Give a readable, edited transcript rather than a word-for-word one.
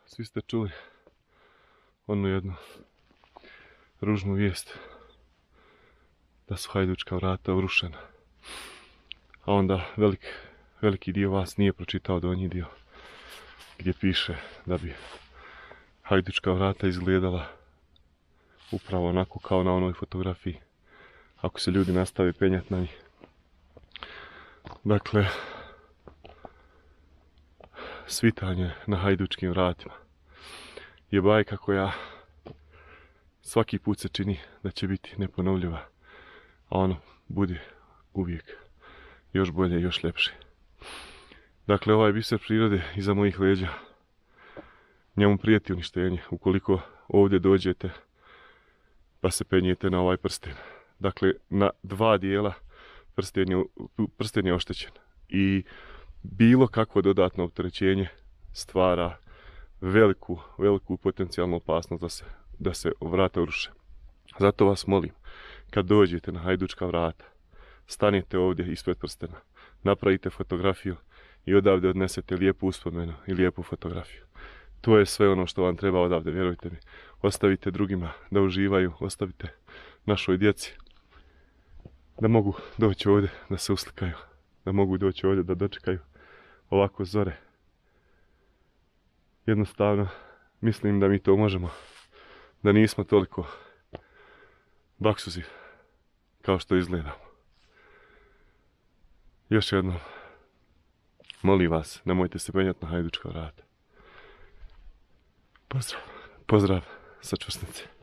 svi ste čuli onu jednu ružnu vijest da su Hajdučka vrata urušena. A onda veliki dio vas nije pročitao donji dio gdje piše da bi Hajdučka vrata izgledala upravo onako kao na onoj fotografiji ako se ljudi nastave penjati na njih. Dakle, svitanje na Hajdučkim vratima je bajka koja svaki put se čini da će biti neponovljiva, a ono bude uvijek još bolje i još ljepše. Dakle, ovaj biser prirode iza mojih leđa, njemu prijeti uništenje ukoliko ovdje dođete pa se penjete na ovaj prsten. Dakle, na dva dijela prsten je oštećen i bilo kakvo dodatno opterećenje stvara veliku potencijalnu opasnost da se vrata uruše. Zato vas molim, kad dođete na Hajdučka vrata, stanite ovdje ispred prstena, napravite fotografiju i odavde odnesete lijepu uspomenu i lijepu fotografiju. To je sve ono što vam treba odavde, vjerujte mi. Ostavite drugima da uživaju, ostavite našoj djeci da mogu doći ovdje da se uslikaju, da mogu doći ovdje da dočekaju ovako zore. Jednostavno, mislim da mi to možemo, da nismo toliko baksuzi kao što izgledamo. Još jednom, molim vas, nemojte se penjati na Hajdučka vrata. Pozdrav sa Čvrsnice.